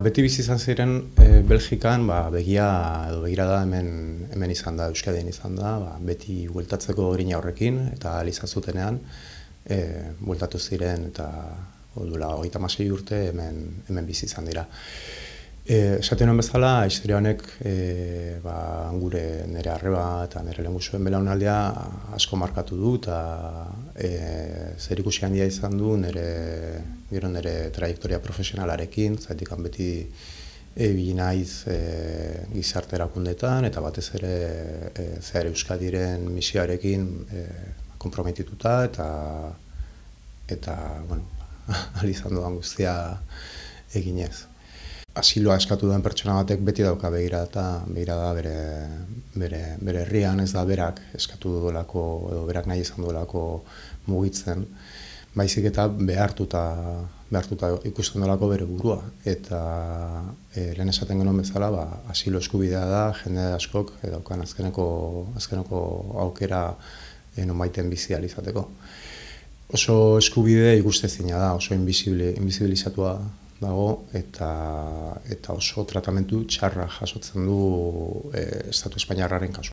Beti bizi izan ziren Belgikan begia edo begirada hemen izan da, Euskadin izan da, beti bueltatzeko grina horrekin eta ahal izan zutenean bueltatu ziren eta duela 36 urte hemen bizi izan dira. Esaten nuen bezala, historia honek nire arreba eta nire lehengusuen belaunaldia asko markatu du eta zerikusi handia izan du nire trajektoria profesionalarekin, zaitik beti ibili naiz gizarte erakundeetan eta batez ere Zehar Euskadiren misioarekin konprometituta eta ahal izan dudan guztia eginez. Asiloa eskatu duen pertsona batek beti dauka begirada bere herrian, ez da berak eskatu duelako edo berak nahi izan duelako mugitzen, baizik eta behartuta ikusten duelako bere burua. Eta lehen esaten genuen bezala, asilo eskubidea da jende askok daukan azkeneko aukera nonbaiten bizi ahal izateko. Oso eskubide ikustezina da, oso invisibilizatua dago eta oso tratamendu txarra jasotzen du Estatu Espainiarraren kasuan.